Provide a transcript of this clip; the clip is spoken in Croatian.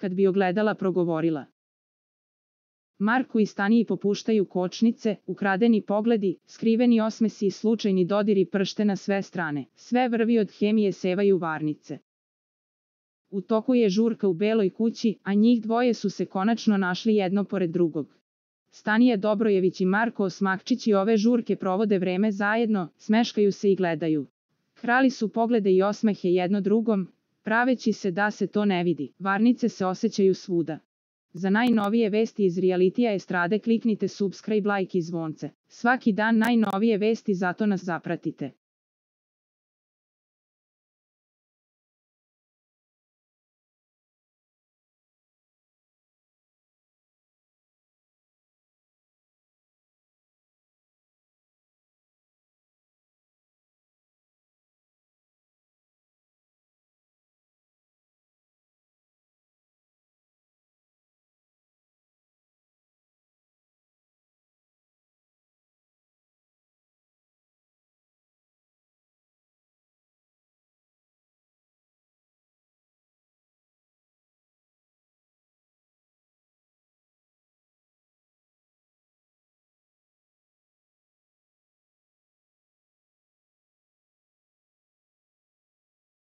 kad bi ogledala progovorila. Marku i Staniji popuštaju kočnice, ukradeni pogledi, skriveni osmesi i slučajni dodiri pršte na sve strane. Sve vrvi od hemije sevaju varnice. U toku je žurka u Beloj kući, a njih dvoje su se konačno našli jedno pored drugog. Stanija Dobrojević i Marko Osmakčić ove žurke provode vreme zajedno, smeškaju se i gledaju. Krali su poglede i osmehe jedno drugom, praveći se da se to ne vidi. Varnice se osjećaju svuda. Za najnovije vesti iz realitija estrade kliknite subscribe, like i zvonce. Svaki dan najnovije vesti, zato nas zapratite.